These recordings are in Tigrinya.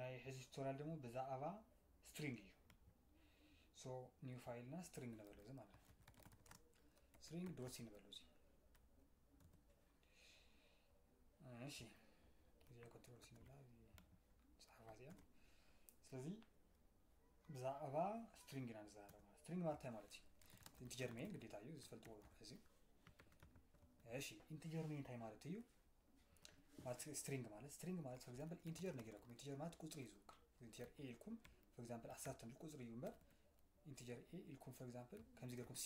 ናይ ሕዚ ቱቶሪያል ደግሞ ብዛዕባ string እዩ። So new file ና string ንበሎ እዚ ማለት ነው። String dot c ንበሎ እዚ። እሺ፣ እዚኣ control c ንብላ፣ እዚ ጸሓፋ እዚኣ። ስለዚ ብዛዕባ string ኢና ንዛረብ ማለት። String ማለት እንታይ ማለት እዩ? Integer main ግዴታ እዩ፣ እዚ ዝፈልጥዎ እዚ። እሺ፣ integer main እንታይ ማለት እዩ? ማለት string ማለት፣ string ማለት for example integer ነጊረኩም። Integer ማለት ቁጽሪ እዩ ዝውክል። Integer a ኢልኩም for example ዓሰርተ ቁጽሪ እዩ እምበር፣ integer a ኢልኩም for example ከምዚ ገርኩም c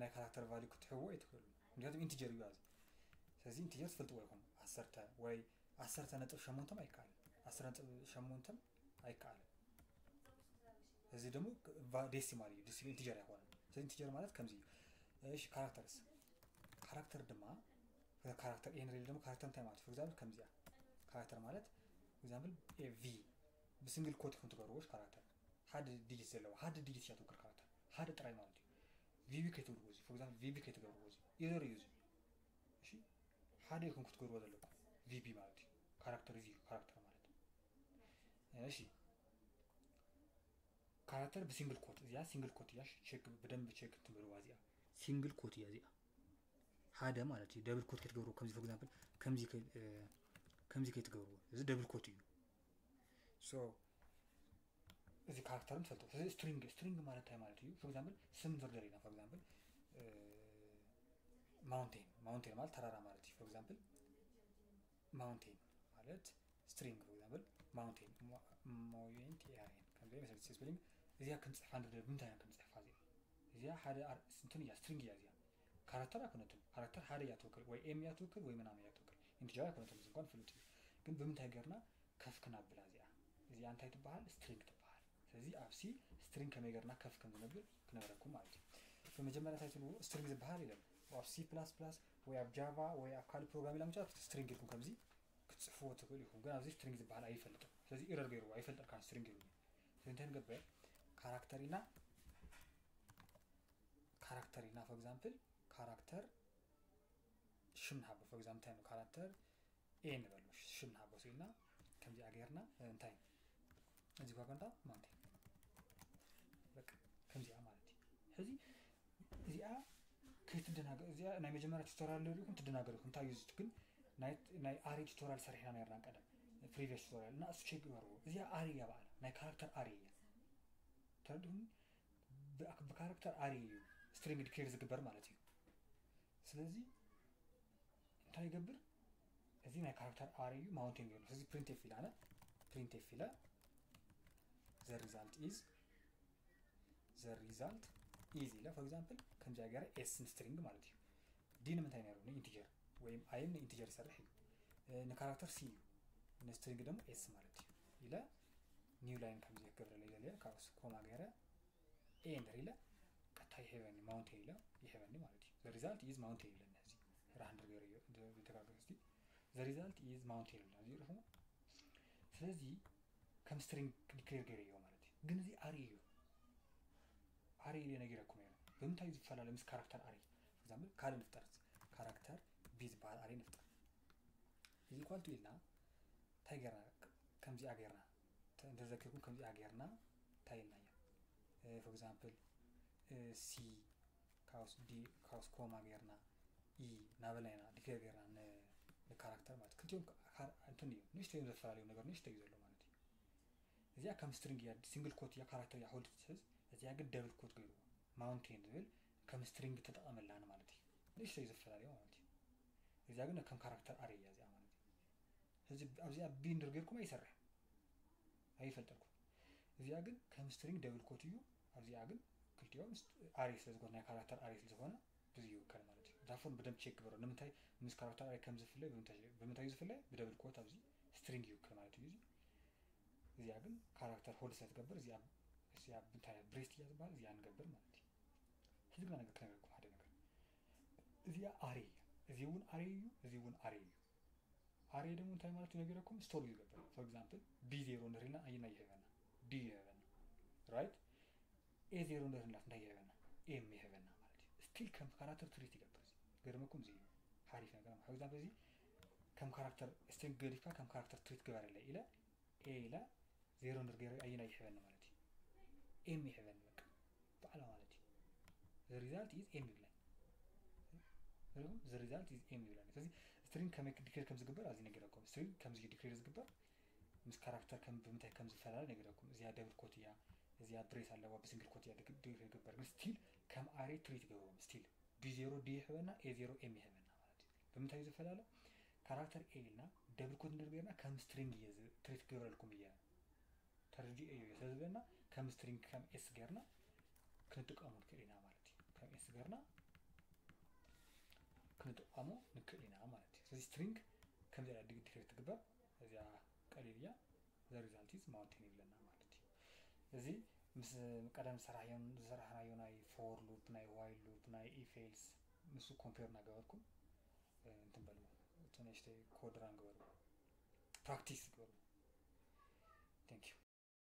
ናይ ካራክተር value ክትሕዎ ኣይትኽእሉ፣ ምክንያቱም integer እዩ። ስለዚ integer ትፈልጥዎ ይኹም። ዓሰርተ ወይ ዓሰርተ ነጥብ ሸሞንተ ኣይከኣልን፣ ዓሰርተ ነጥብ ሸሞንተ ኣይከኣልን። እዚ ደግሞ decimal እዩ፣ decimal integer ኣይኮነን። ስለዚ integer ማለት ከምዚ እዩ። እሺ፣ characters፣ character ድማ character a ንርኢ። ደግሞ character እንታይ ማለት? For example ከምዚኣ። Character ማለት for example v ብ single quote ኢኹም ትገብርዎ። Character ሓደ digit ዘለዎ፣ ሓደ digit እያ ትውክል። Character ሓደ ጥራይ ማለት እዩ። vb ከይትብልዎ እዚ፣ for example vb ከይትገብርዎ እዚ። Error እዩ እዚ። እሺ፣ ሓደ ኢኹም ክትገብርዎ ዘለኩም vb ማለት እዩ። Character እዚ እዩ character ማለት። እሺ፣ character ብ single quote እዚኣ፣ single quote እያ። Check፣ ብደንብ check ትብልዋ እዚኣ። Single quote እያ እዚኣ። ሓደ ማለት እዩ። Double quote ከይትገብርዎ፣ ከምዚ for example ከምዚ ከይትገብርዎ፣ እዚ double quote እዩ። So እዚ character ን ትፈልጡ። ስለዚ string፣ string ማለት እንታይ ማለት እዩ? For example ስም ንደርደር ኢና። For example mountain፣ mountain ማለት ተራራ ማለት እዩ። For example mountain ማለት string፣ for example mountain፣ mountain ከምዚ መሰለኝ spelling። እዚኣ ክንጽሕፋ ንደርደር፣ ብምንታይ ኢና ክንጽሕፋ? እዚኣ፣ እዚኣ ሓደ እንትን እያ፣ string እያ እዚኣ። Character ኣይኮነትን። Character ሓደ እያ ትውክል፣ ወይ m እያ ትውክል ወይ ምናምን እያ ትውክል። Integer ኣይኮነትን፣ እዚ እንኳን ፍሉጥ እዩ። ግን ብምንታይ ጌርና ከፍ ክነብላ እዚኣ? እዚኣ እንታይ ትበሃል? String ትበሃል። ስለዚ ኣብ C string ከመይ ጌርና ከፍ ከም ዝነብል ክነግረኩም ማለት እዩ። ብመጀመርያ እንታይ ትብልዎ? String ዝበሃል የለን። ኣብ C plus plus ወይ ኣብ Java ወይ ኣብ ካልእ programming language string ኢልኩም ከምዚ ክትጽሕፍዎ ትኽእሉ ኢኹም። ግን ኣብዚ string ዝበሃል ኣይፈልጥን። ስለዚ error ገይርዎ፣ ኣይፈልጠልካን string ኢሉኒ። ስለዚ እንታይ ንገብር? Character ኢልና፣ character ኢልና for example character ሽም ንሃቦ። For example እንታይ ነው? Character a ንበሉ፣ ሽም ንሃቦ ስኢልና ከምዚኣ ጌርና እንታይ እዚ ኳ ጋንታ mountain፣ በቃ ከምዚኣ ማለት እዩ። ሕዚ እዚኣ ከይትደናገ-፣ እዚኣ ናይ መጀመርያ ቱቶሪያል ሪኢኩም ትደናገሩ ኢኹም። እንታይ እዩ ዝት-፣ ግን ናይ፣ ናይ array ቱቶሪያል ሰሪሕና ነርና ቀደም፣ previous ቱቶሪያል፣ እና እሱ ቼክ ግበርዎ። እዚኣ array እያ ባዕላ፣ ናይ character array እያ። ተረድኹም? ብ-፣ ብካራክተር array እዩ string declare ዝግበር ማለት እዩ። ስለዚ እንታይ ይገብር? እዚ ናይ character array እዩ፣ mountain ገይሩ። ስለዚ printf ኢለ ኣነ፣ printf ኢለ the result is፣ the result is ኢለ for example ከምዚኣ ገይረ s ን string ማለት እዩ። D ንምንታይ ነይሩ? ን integer ወይም i ን integer ይሰርሕ እዩ። እ፣ ን character c እዩ፣ ን string ደግሞ s ማለት እዩ ኢለ new line ከምዚ ክገብረለይ ደልየ፣ ካብ ኮማ ገይረ a እንድሕር ኢለ ቀጥታ ይህበኒ፣ mountain ኢለ ይህበኒ ማለት እዩ። The result is mountain ይብለኒ። እዚ ራህ እንድር ገይረ እዮ፣ እንደ-፣ እንተጋገዝቲ the result is mountain ይብለኒ። እዚ ርኹም። ስለዚ ከም string declare ገይረ እዮ ማለት እዩ። ግን እዚ array እዩ። Array ኢለ ነጊረኩም እየ። ብምንታይ እዩ ዝፈላለ ምስ character array? For example ካልእ ንፍጠር። Character b ዝበሃል array ንፍጠር። እዚ equal to ኢልና እንታይ ጌርና? ከምዚኣ ጌርና። ተ-፣ እንተዘኪርኩም ከምዚኣ ጌርና እንታይ ኢልናዮ? እ፣ for example፣ እ፣ C ካውስ D ካውስ ኮማ ጌርና፣ E እናበልና ኢና declare ጌርና ን-፣ ንካራክተር ማለት። ክልቲኦም ካ-፣ ካር-፣ እንትን እዩ። ንእሽተይ እዮም ዘፈላለዩ ነገር፣ ንእሽተይ እዩ ዘሎ ማለት እዩ። እዚኣ ከም string እያ፣ single quote እያ፣ ካራክተር እያ hold ትሕዝ። እዚኣ ግን double quote ገይርዎ። Mountain ዝብል ከም string ተጠቐመላን ማለት እዩ። ንእሽተይ እዩ ዘፈላለዩ ማለት እዩ። እዚኣ ግን ከም ካራክተር array እያ እዚኣ ማለት እዩ። እዚ ኣብዚኣ b እንድር ጌርኩም ኣይሰርሕን። ኣይፈልጠልኩም። እዚኣ ግን ከም string double quote እዩ። ኣብዚኣ ግን ክልቲኦም st-፣ array ስለ ዝኾነ፣ ናይ ካራክተር array ስለ ዝኾነ፣ ብዚ ይውከል ማለት እዩ። እዛ ፎንት ብደንብ ቼክ ግበሩ። ንምንታይ ምስ ካራክተር array ከም ዝፍለይ፣ ብምንታይ፣ ብምንታይ እዩ ዝፍለይ? ብ double quote ኣብዚ string ይውከል ማለት እዩ። እዚ፣ እዚኣ ግን ካራክተር hold ስለ ትገብር፣ እዚኣ፣ እዚኣ ብምንታይ breast እያ ዝበሃል፣ እዚኣ ንገብር ማለት እዩ። ሕዚ ግና ነገር ክነግረኩም ሓደ ነገር። እዚኣ array እያ። እዚ እውን array እዩ፣ እዚ እውን array እዩ። Array ደግሞ እንታይ ማለት እዩ ነጊረኩም? Store እዩ ዝገብር። For example፣ b ዜሮ እንድሕር ኢልና ኣየናይ ይህበና? D ይህበና። Right? A ዜሮ እንድሕር ኢልና እንታይ ይህበና? M ይህበና ማለት እዩ። Still ከም ካራክተር ትሪት ይገብር። እዚ ገርመኩም፣ እዚ እዩ ሓሪፍ ነገር ማለት። For example፣ እዚ ከም ካራክተር string ገዲፍካ ከም ካራክተር ትሪት ግበረለይ ኢለ A ኢለ ዜሮ እንድር ገይረ ኣየናይ ይሕበኒ ማለት እዩ? ኤም ይሕበኒ በቃ ባዕላ ማለት እዩ። The result is M ይብለኒ። ሪኹም? The result is M ይብለኒ። ስለዚ string ከመይ declare ከም ዝግበር ኣብዚ ነጊረኩም። String ከምዚ እዩ declare ዝግበር፣ ምስ ካራክተር ከም ብምንታይ ከም ዝፈላለ ነጊረኩም። እዚኣ double quote እያ፣ እዚኣ brace ኣለዋ፣ ብ single quote እያ declare ዝግበር። ግን still ከም array treat ይገብርዎም። Still B ዜሮ D ይሕበና፣ A ዜሮ M ይሕበና ማለት እዩ። ብምንታይ እዩ ዝፈላለ? ካራክተር A ኢልና double quote እንድር ገይርና ከም string እየ treat ክገብረልኩም እየ። ተረዲኦ እዩ ስለ ዝበለና ከም string ከም S ገይርና ክንጥቀሙ ንክእል ኢና ማለት እዩ። ከም S ገይርና ክንጥቀሙ ንክእል ኢና ማለት እዩ። ስለዚ string ከምዚ ኢላ declare ትግበር። እዚኣ ቀሊል እያ። The result is mountain ይብለና ማለት እዩ። እዚ ምስ ቀደም ዝሰራሕናዮ ናይ for loop፣ ናይ while loop፣ ናይ if else ምስ compare እናገበርኩም እንትን በልዎ። እቲ ንእሽተይ code run ግበርዎ፣ practice ግበርዎ።